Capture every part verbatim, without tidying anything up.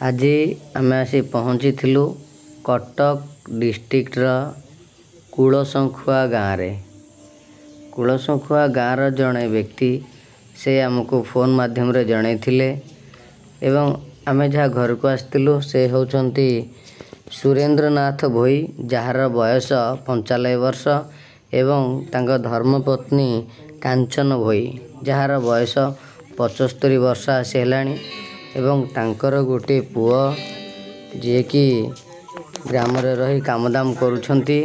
ଆଜି ଆମେ ଆସି ପହଞ୍ଚିଥିଲୁ କଟକ ଡିଷ୍ଟ୍ରିକ୍ଟର କୁଳଶଙ୍ଖୁଆ ଗାଁରେ। କୁଳଶଙ୍ଖୁଆ ଗାଁର ଜଣେ ବ୍ୟକ୍ତି ସେ ଆମକୁ ଫୋନ୍ ମାଧ୍ୟମରେ ଜଣାଇଥିଲେ ଏବଂ ଆମେ ଯାହା ଘରକୁ ଆସିଥିଲୁ ସେ ହେଉଛନ୍ତି ସୁରେନ୍ଦ୍ରନାଥ ଭୋଇ, ଯାହାର ବୟସ ପଞ୍ଚାନବେ ବର୍ଷ, ଏବଂ ତାଙ୍କ ଧର୍ମପତ୍ନୀ କାଞ୍ଚନ ଭୋଇ, ଯାହାର ବୟସ ପଞ୍ଚସ୍ତରୀ ବର୍ଷ ଆସି ହେଲାଣି, ଏବଂ ତାଙ୍କର ଗୋଟିଏ ପୁଅ ଯିଏକି ଗ୍ରାମରେ ରହି କାମଦାମ କରୁଛନ୍ତି।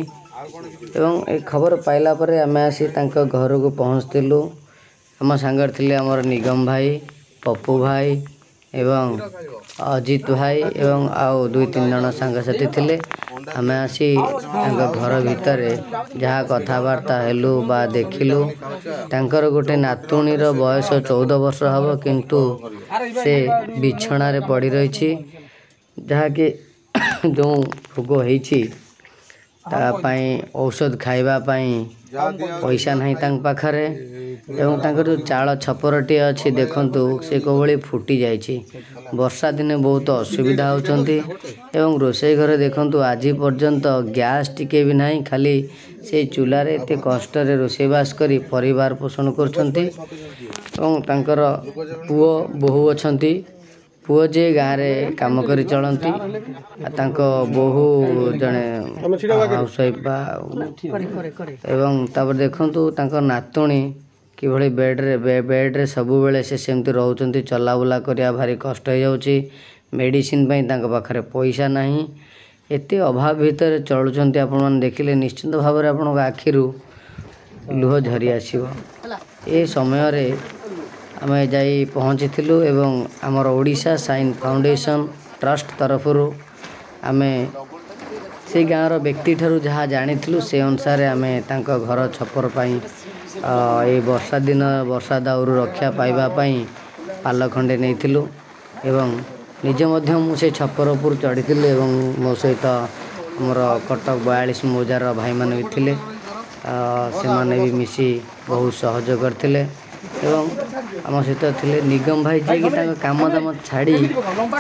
ଏବଂ ଏ ଖବର ପାଇଲା ପରେ ଆମେ ଆସି ତାଙ୍କ ଘରକୁ ପହଞ୍ଚିଥିଲୁ। ଆମ ସାଙ୍ଗରେ ଥିଲେ ଆମର ନିଗମ ଭାଇ, ପପୁ ଭାଇ ଏବଂ ଅଜିତ ଭାଇ ଏବଂ ଆଉ ଦୁଇ ତିନି ଜଣ ସାଙ୍ଗସାଥି ଥିଲେ। ଆମେ ଆସି ତାଙ୍କ ଘର ଭିତରେ ଯାହା କଥାବାର୍ତ୍ତା ହେଲୁ ବା ଦେଖିଲୁ, ତାଙ୍କର ଗୋଟେ ନାତୁଣୀର ବୟସ ଚଉଦ ବର୍ଷ ହେବ, କିନ୍ତୁ ସେ ବିଛଣାରେ ପଡ଼ି ରହିଛି, ଯାହାକି ଯେଉଁ ରୋଗ ହେଇଛି ତା ପାଇଁ ଔଷଧ ଖାଇବା ପାଇଁ ପଇସା ନାହିଁ ତାଙ୍କ ପାଖରେ। ଏବଂ ତାଙ୍କର ଯେଉଁ ଚାଳ ଛପରଟିଏ ଅଛି ଦେଖନ୍ତୁ, ସେ କେଉଁଭଳି ଫୁଟି ଯାଇଛି। ବର୍ଷା ଦିନେ ବହୁତ ଅସୁବିଧା ହେଉଛନ୍ତି। ଏବଂ ରୋଷେଇ ଘରେ ଦେଖନ୍ତୁ, ଆଜି ପର୍ଯ୍ୟନ୍ତ ଗ୍ୟାସ୍ ଟିକେ ବି ନାହିଁ, ଖାଲି ସେଇ ଚୁଲାରେ ଏତେ କଷ୍ଟରେ ରୋଷେଇବାସ କରି ପରିବାର ପୋଷଣ କରୁଛନ୍ତି। ଏବଂ ତାଙ୍କର ପୁଅ ବୋହୂ ଅଛନ୍ତି। ପୁଅ ଯିଏ ଗାଁରେ କାମ କରି ଚଳନ୍ତି, ଆଉ ତାଙ୍କ ବୋହୂ ଜଣେ ହାଉସ୍ ୱାଇଫ୍ ବା। ଏବଂ ତାପରେ ଦେଖନ୍ତୁ ତାଙ୍କ ନାତୁଣୀ କିଭଳି ବେଡ଼୍ରେ ବେଡ଼୍ରେ ସବୁବେଳେ ସେ ସେମିତି ରହୁଛନ୍ତି, ଚଲାବୁଲା କରିବା ଭାରି କଷ୍ଟ ହେଇଯାଉଛି। ମେଡ଼ିସିନ ପାଇଁ ତାଙ୍କ ପାଖରେ ପଇସା ନାହିଁ। ଏତେ ଅଭାବ ଭିତରେ ଚଳୁଛନ୍ତି। ଆପଣମାନେ ଦେଖିଲେ ନିଶ୍ଚିନ୍ତ ଭାବରେ ଆପଣଙ୍କ ଆଖିରୁ ଲୁହ ଝରି ଆସିବ। ଏ ସମୟରେ ଆମେ ଯାଇ ପହଞ୍ଚିଥିଲୁ ଏବଂ ଆମର ଓଡ଼ିଶା ସାଇନ୍ ଫାଉଣ୍ଡେସନ୍ ଟ୍ରଷ୍ଟ ତରଫରୁ ଆମେ ସେଇ ଗାଁର ବ୍ୟକ୍ତିଠାରୁ ଯାହା ଜାଣିଥିଲୁ ସେ ଅନୁସାରେ ଆମେ ତାଙ୍କ ଘର ଛପର ପାଇଁ, ଏଇ ବର୍ଷା ଦିନ ବର୍ଷା ଦାଉରୁ ରକ୍ଷା ପାଇବା ପାଇଁ ପାଲ ଖଣ୍ଡେ ନେଇଥିଲୁ। ଏବଂ ନିଜେ ମଧ୍ୟ ମୁଁ ସେ ଛପର ଉପରୁ ଚଢ଼ିଥିଲି ଏବଂ ମୋ ସହିତ ଆମର କଟକ ବୟାଳିଶ ମୌଜାର ଭାଇମାନେ ବି ଥିଲେ, ସେମାନେ ବି ମିଶି ବହୁତ ସହଯୋଗ କରିଥିଲେ। ଏବଂ ଆମ ସହିତ ଥିଲେ ନିଗମ ଭାଇ, ଯିଏକି ତାଙ୍କ କାମ ଦାମ ଛାଡ଼ି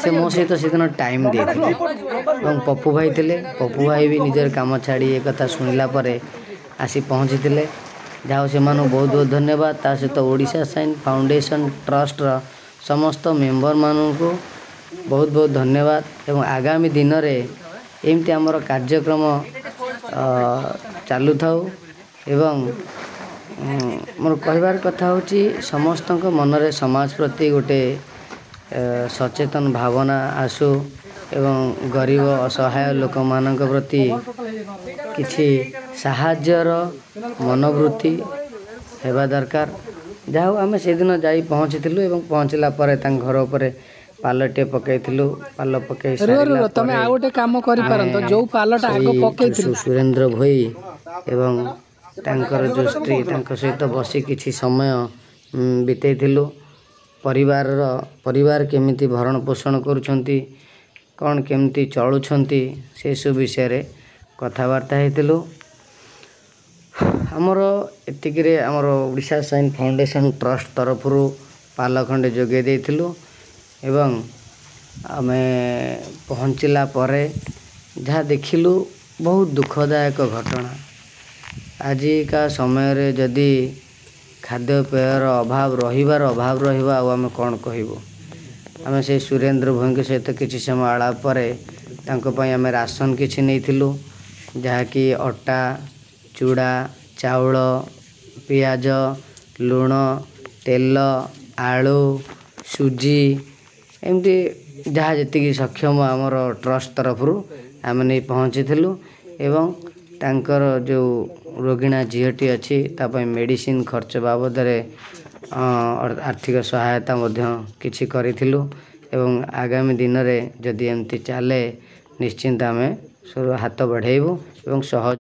ସେ ମୋ ସହିତ ସେଦିନ ଟାଇମ୍ ଦେଇଥିଲେ। ଏବଂ ପପୁ ଭାଇ ଥିଲେ, ପପୁ ଭାଇ ବି ନିଜର କାମ ଛାଡ଼ି ଏ କଥା ଶୁଣିଲା ପରେ ଆସି ପହଞ୍ଚିଥିଲେ। ଯାହା ହଉ, ସେମାନଙ୍କୁ ବହୁତ ବହୁତ ଧନ୍ୟବାଦ। ତା ସହିତ ଓଡ଼ିଶା ସାଇନ୍ ଫାଉଣ୍ଡେସନ୍ ଟ୍ରଷ୍ଟର ସମସ୍ତ ମେମ୍ବରମାନଙ୍କୁ ବହୁତ ବହୁତ ଧନ୍ୟବାଦ। ଏବଂ ଆଗାମୀ ଦିନରେ ଏମିତି ଆମର କାର୍ଯ୍ୟକ୍ରମ ଚାଲୁଥାଉ। ଏବଂ ମୋର କହିବାର କଥା ହେଉଛି, ସମସ୍ତଙ୍କ ମନରେ ସମାଜ ପ୍ରତି ଗୋଟେ ସଚେତନ ଭାବନା ଆସୁ ଏବଂ ଗରିବ ଅସହାୟ ଲୋକମାନଙ୍କ ପ୍ରତି କିଛି ସାହାଯ୍ୟର ମନୋବୃତ୍ତି ହେବା ଦରକାର। ଯାହା ହଉ, ଆମେ ସେଦିନ ଯାଇ ପହଞ୍ଚିଥିଲୁ ଏବଂ ପହଞ୍ଚିଲା ପରେ ତାଙ୍କ ଘର ଉପରେ ପାଲଟିଏ ପକାଇଥିଲୁ। ପାଲ ପକାଇ ସାରିଲା ତମେ ଆଉ ଗୋଟେ କାମ କରିପାରନ୍ତ, ଯୋଉ ପାଲଟା ଆଗ ପକେଇଥିଲୁ, ସୁରେନ୍ଦ୍ର ଭୋଇ ଏବଂ ତାଙ୍କର ଯେଉଁ ସ୍ତ୍ରୀ ତାଙ୍କ ସହିତ ବସି କିଛି ସମୟ ବିତେଇଥିଲୁ। ପରିବାରର ପରିବାର କେମିତି ଭରଣ ପୋଷଣ କରୁଛନ୍ତି, କ'ଣ କେମିତି ଚଳୁଛନ୍ତି, ସେସବୁ ବିଷୟରେ କଥାବାର୍ତ୍ତା ହେଇଥିଲୁ। ଆମର ଏତିକିରେ ଆମର ଓଡ଼ିଶା ସାଇନ୍ ଫାଉଣ୍ଡେସନ୍ ଟ୍ରଷ୍ଟ ତରଫରୁ ପାଲ ଖଣ୍ଡେ ଯୋଗାଇ ଦେଇଥିଲୁ। ଏବଂ ଆମେ ପହଞ୍ଚିଲା ପରେ ଯାହା ଦେଖିଲୁ ବହୁତ ଦୁଃଖଦାୟକ ଘଟଣା। ଆଜିକା ସମୟରେ ଯଦି ଖାଦ୍ୟପେୟର ଅଭାବ ରହିବାର ଅଭାବ ରହିବ, ଆଉ ଆମେ କ'ଣ କହିବୁ? ଆମେ ସେଇ ସୁରେନ୍ଦ୍ର ଭୋଇଙ୍କ ସହିତ କିଛି ସମୟ ଆଳାପ ପରେ ତାଙ୍କ ପାଇଁ ଆମେ ରାସନ କିଛି ନେଇଥିଲୁ, ଯାହାକି ଅଟା, ଚୁଡ଼ା, ଚାଉଳ, ପିଆଜ, ଲୁଣ, ତେଲ, ଆଳୁ, ସୁଜି, ଏମିତି ଯାହା ଯେତିକି ସକ୍ଷମ ଆମର ଟ୍ରଷ୍ଟ ତରଫରୁ ଆମେ ନେଇ ପହଞ୍ଚିଥିଲୁ। ଏବଂ ତାଙ୍କର ଯେଉଁ ରୋଗିଣା ଝିଅଟି ଅଛି ତା ପାଇଁ ମେଡ଼ିସିନ ଖର୍ଚ୍ଚ ବାବଦରେ ଆର୍ଥିକ ସହାୟତା ମଧ୍ୟ କିଛି କରିଥିଲୁ। ଏବଂ ଆଗାମୀ ଦିନରେ ଯଦି ଏମିତି ଚାଲେ, ନିଶ୍ଚିନ୍ତ ଆମେ ହାତ ବଢ଼େଇବୁ ଏବଂ ସହଜ